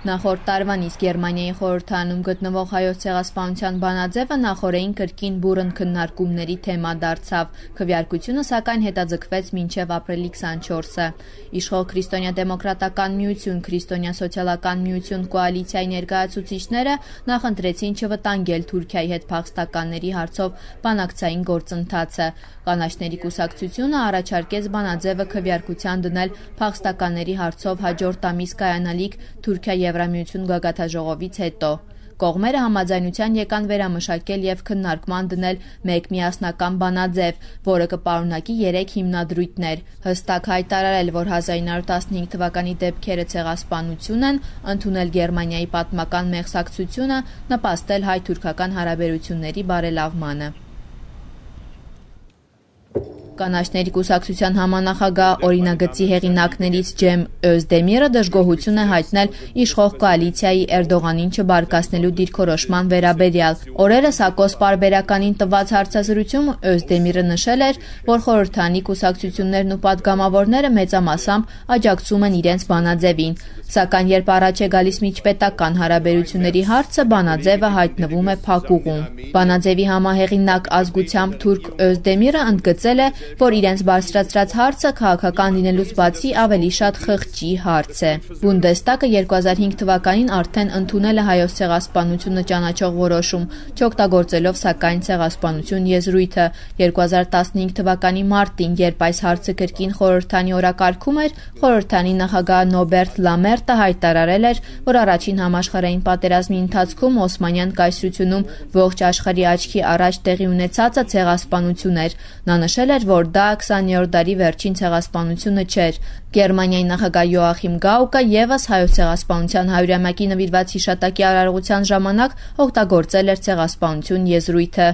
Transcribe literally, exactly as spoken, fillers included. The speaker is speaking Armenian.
Նախորդ տարվան իսկ Գերմանիայի խորհրդարանում գտնվող հայոց ցեղասպանության բանաձևը նախօրեին կրկին բուռն քննարկումների թեմա դարձավ։ Քվեարկությունը սակայն հետաձգվեց մինչև ապրիլի քսանչորսը։ Իշխող Քրիստոնյա-դեմոկրատական միություն, Քրիստոնյա սոցիալական միություն կոալիցիայի ներկայացուցիչները նախընտրեցին չվտանգել Թուրքիայի հետ փախստականների հարցով բանակցային գործընթացը։ Կանաչների կուսակցությունը առաջարկեց բանաձևը քվեարկության դնել փախստականների հարցով հաջորդ ամիս կայանալիք Թուրքիա-Եվրամիություն գագաթնաժողովից հետո։ Կողմերը համաձայնության եկան վերամշակել եւ քննարկման դնել մեկ միասնական բանաձև, որը կպարունակի երեք հիմնադրույթներ, հստակ հայտարարել, որ հազար ինը հարյուր տասնհինգ թվականի դեպքերը ցեղասպանություն են, ընդունել Գերմանիայի պատմական մեղսակցությունը, նպաստել հայ-թուրքական հարաբերությունների բարելավմանը։ Կանաչների կուսակցության համանախագահ օրինագծի հեղինակներից Ջեմ Օզդեմիրը դժգոհություն է հայտնել իշխող կոալիցիայի Էրդողանին չբարկացնելու դիրքորոշման վերաբերյալ։ Օրերս Ակոս պարբերականին տված հարցազրույցում Օզդեմիրը նշել էր, որ խորհրդարանի կուսակցություններն ու պատգամավորները մեծամասամբ աջակցում են իրենց բանաձևին, սակայն երբ առաջ է գալիս միջպետական հարաբերությունների հարցը, բանաձևը հայտնվում է փակուղում։ Բանաձևի համահեղինակ ազգությամբ թուրք Օզդեմիրը ընդգծել է, որ իրենց բարձրացրած հարցը քաղաքական լինելուց բացի ավելի շատ խղճի հարց է։ Բունդեստագը երկու հազար հինգ թվականին արդեն ընդունել է հայոց ցեղասպանությունը ճանաչող որոշում, չօգտագործելով սակայն ցեղասպանություն եզրույթը։ երկու հազար տասնհինգ թվականի մարտին, երբ այս հարցը կրկին խորհրդարանի օրակարգում էր, խորհրդարանի նախագահ Նոբերտ Լամերտը հայտարարել էր, որ առաջին համաշխարհային պատերազմի ընթացքում Օսմանյան կայսրությունում ողջ աշխարհի աչքի առաջ տեղի ունեցածը ցեղասպանություն էր։ Նա նշել էր, որ դա քսաներորդ դարի վերջին ցեղասպանությունը չէր։ Գերմանիայի նախագահ Յոախիմ Գաուկը ևս հայոց ցեղասպանության հարյուրամյակի նվիրված հիշատակի արարողության ժամանակ օգտագործել էր ցեղասպանություն եզրույթը։